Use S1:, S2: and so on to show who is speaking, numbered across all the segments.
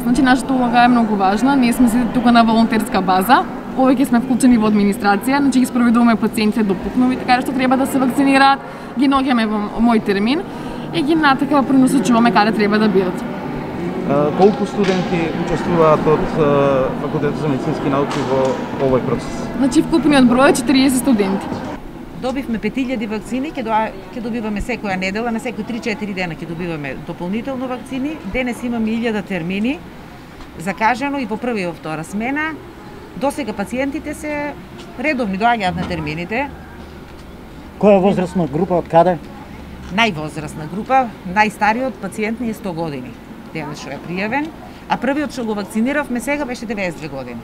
S1: Значи, нашата улога е многу важна. Ние сме сите тука на волонтерска база. Повеќе сме вклучени во администрација, значи ги спроведуваме пациентите до пукнови, така што треба да се вакцинираат, ги наоѓаме во мој термин и ги натака пренасочуваме каде треба да бидат.
S2: Колку студенти учествуваат од Факултетот за медицински науки во овој процес?
S1: Значи, вкупниот број е 40 студенти.
S3: Добивме 5000 вакцини, ќе добиваме секоја недела, на секои 3-4 дена ќе добиваме дополнително вакцини. Денес имаме 1000 термини закажано и по прва и во втора смена. Досега пациентите се редовни, доаѓаат на термините.
S4: Која возрастна група, од каде?
S3: Највозрастна група, најстариот пациент ни е 100 години, денес што е пријавен, а првиот што го вакциниравме сега беше 92 години.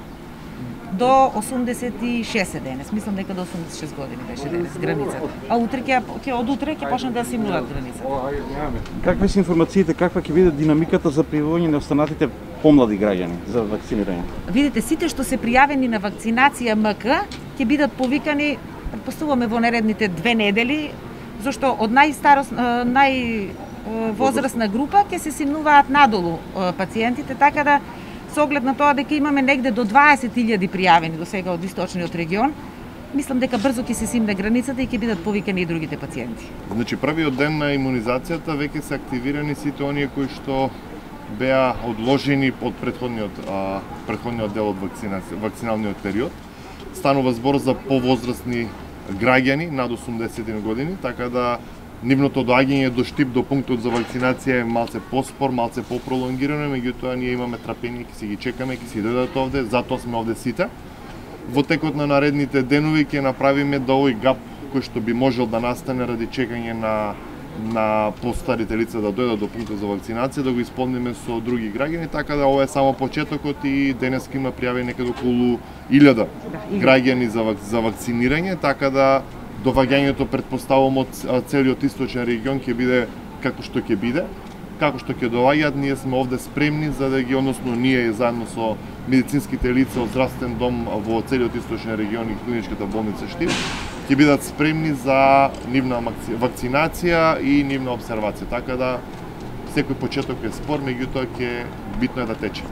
S3: До 86 денес, мислам дека до 86 години беше денес границата. А утре од утре ќе почнат да симнуваат границата.
S2: Какви се информациите, каква ќе биде динамиката за пријавување на останатите помлади граѓани за вакцинирање?
S3: Видите, сите што се пријавени на вакцинација МК ќе бидат повикани, претпоставуваме во наредните 2 недели, зашто од највозрастна група ќе се симнуваат надолу пациентите, така да со оглед на тоа дека имаме негде до 20.000 пријавени до сега од источниот регион, мислам дека брзо ќе се симне границата и ќе бидат повикани и другите пациенти.
S5: Значи, првиот ден на имунизацијата веќе се активирани сите оние кои што беа одложени од претходниот дел од вакциналниот период. Станува збор за повозрастни граѓани над 81 години, така да нивното доаѓање до штип до пунктот за вакцинација е малце поспор, малце попролонгирано, меѓутоа ние имаме трпение, ќе си ги чекаме, ќе си дојдат овде, затоа сме овде сите. Во текот на наредните денови ќе направиме да овој гап кој што би можел да настане ради чекање на постарите лица да дојдат до пунктот за вакцинација, да го исполниме со други граѓани, така да ова е само почетокот и денес има пријавени некаде околу 1000 граѓани за вакцинирање, така да доваѓањето претпоставувам од целиот источен регион ќе биде како што ќе биде. Како што ќе доваѓаат, ние сме овде спремни за да ги, односно ние заедно со медицинските лица од здравствен дом во целиот источен регион и клиничката болница Штип, ќе бидат спремни за нивна вакцинација и нивна обсервација. Така да секој почеток е спор, меѓутоа ќе битно е да тече.